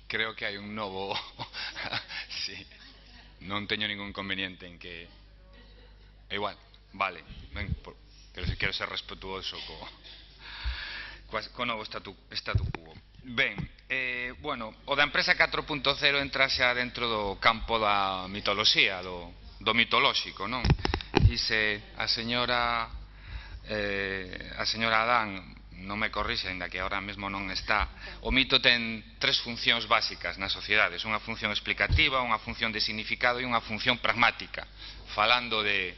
creo que hai un novo... sí, non teño ningún inconveniente en que... Igual, vale, ben, pero se quero ser respetuoso co novo statu quo. Ben, bueno, o da empresa 4.0 entra xa dentro do campo da mitoloxía, do mitolóxico, non? E se a señora Adán non me corrixe, ainda que ahora mesmo non está, o mito ten tres funcións básicas nas sociedades: unha función explicativa, unha función de significado e unha función pragmática. Falando de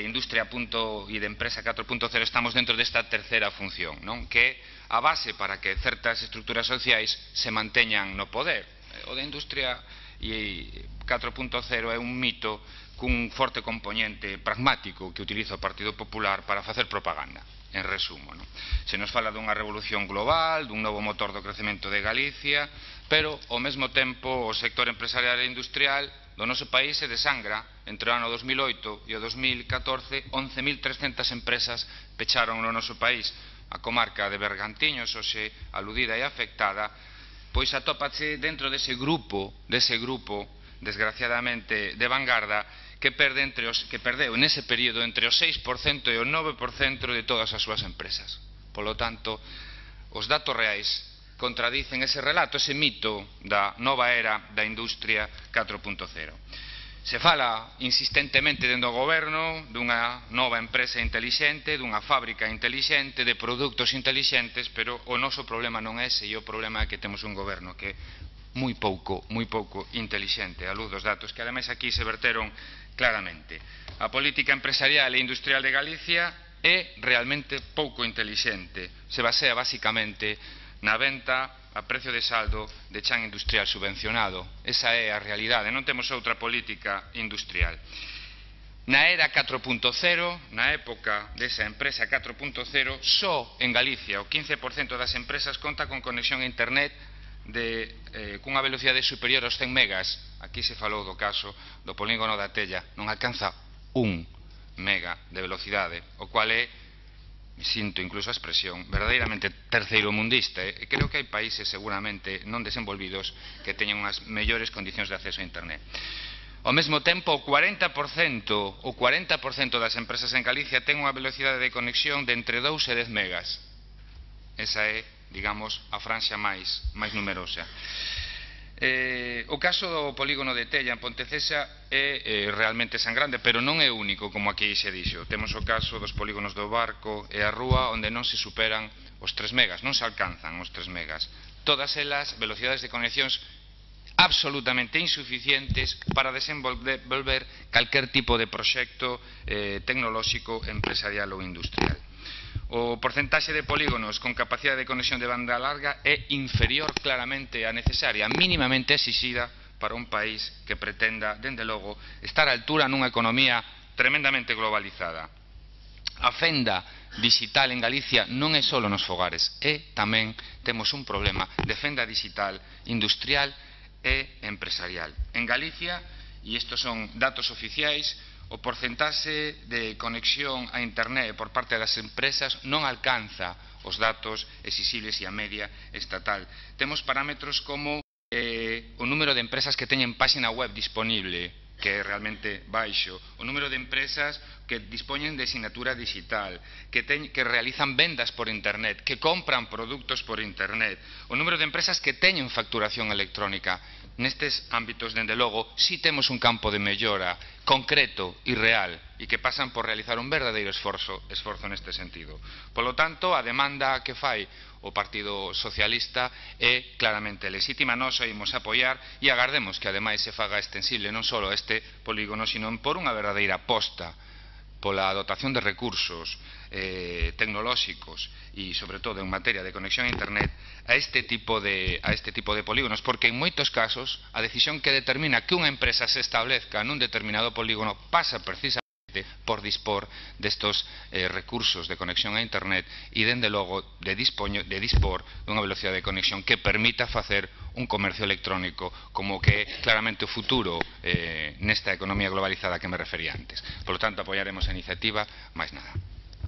industria e de empresa 4.0, estamos dentro desta terceira función, non? Que é a base para que certas estructuras sociais se manteñan no poder. O de industria 4.0 é un mito cun forte componente pragmático que utiliza o Partido Popular para facer propaganda, en resumo, non? Se nos fala dunha revolución global, dun novo motor do crecemento de Galicia, pero ao mesmo tempo o sector empresarial e industrial do noso país se desangra. Entre o ano 2008 e o 2014, 11.300 empresas pecharon no noso país. A comarca de Bergantiños, hoxe aludida e afectada, pois atópase dentro dese grupo, desgraciadamente, de vanguarda, que perdeu nese período entre o 6% e o 9% de todas as súas empresas. Polo tanto, os datos reais contradicen ese relato, ese mito da nova era da industria 4.0. Se fala insistentemente dentro do goberno dunha nova empresa intelixente, dunha fábrica intelixente, de produtos intelixentes, pero o noso problema non é ese, e o problema é que temos un goberno que é moi pouco intelixente, a luz dos datos que ademais aquí se verteron claramente. A política empresarial e industrial de Galicia é realmente pouco intelixente, se basea basicamente na venta a precio de saldo de chan industrial subvencionado. Esa é a realidade, non temos outra política industrial. Na era 4.0, na época desa empresa 4.0, só en Galicia o 15% das empresas conta con conexión a internet cunha velocidade superior aos 100 megas. Aquí se falou do caso do polígono da Tella, non alcanza 1 mega de velocidade, o cual é, sinto incluso a expresión, verdadeiramente terceiromundista. E creo que hai países seguramente non desenvolvidos que teñen unhas mellores condicións de acceso a internet. Ao mesmo tempo, o 40% das empresas en Galicia ten unha velocidade de conexión de entre 2 e 10 megas. Esa é, digamos, a franxa máis numerosa. O caso do polígono de Tella en Pontecesa é realmente sangrante, pero non é único, como aquí se dixo. Temos o caso dos polígonos do Barco e a Rúa, onde non se superan os 3 megas, non se alcanzan os 3 megas. Todas elas velocidades de conexións absolutamente insuficientes para desenvolver calquer tipo de proxecto tecnolóxico, empresarial ou industrial. O porcentaxe de polígonos con capacidade de conexión de banda larga é inferior claramente á necesaria, mínimamente exixida para un país que pretenda, dende logo, estar á altura nunha economía tremendamente globalizada. A fenda digital en Galicia non é só nos fogares, tamén temos un problema de fenda digital industrial e empresarial. En Galicia, e estes son datos oficiais, o porcentaxe de conexión a internet por parte das empresas non alcanza os datos exixibles e a media estatal. Temos parámetros como o número de empresas que teñen páxina web disponible, que é realmente baixo, o número de empresas que dispoñen de sinatura digital, que realizan vendas por internet, que compran produtos por internet, o número de empresas que teñen facturación electrónica. Nestes ámbitos, dende logo, si temos un campo de mellora concreto e real e que pasan por realizar un verdadeiro esforzo neste sentido. Polo tanto, a demanda que fai o Partido Socialista é claramente lexítima. Nós a imos apoiar e agardemos que ademais se faga extensible non só a este polígono, sino por unha verdadeira aposta pola dotación de recursos tecnolóxicos e, sobre todo, en materia de conexión a internet a este tipo de polígonos, porque en moitos casos a decisión que determina que unha empresa se establezca nun determinado polígono pasa precisamente por dispor destos recursos de conexión a internet e, dende logo, de dispor dunha velocidade de conexión que permita facer un comercio electrónico como que é claramente o futuro nesta economía globalizada que me refería antes. Por lo tanto, apoiaremos a iniciativa, máis nada.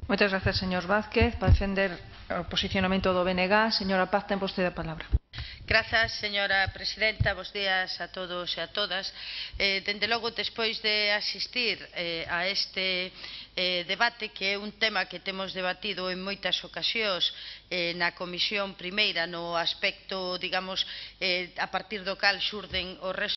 Moitas gracias, señor Vázquez. Para defender o posicionamento do BNG, señora Paz, ten vostede a palabra. Grazas, señora presidenta. Bos días a todos e a todas. Dende logo, despois de asistir a este debate, que é un tema que temos debatido en moitas ocasións na comisión primeira, no aspecto, digamos, a partir do cal xurden os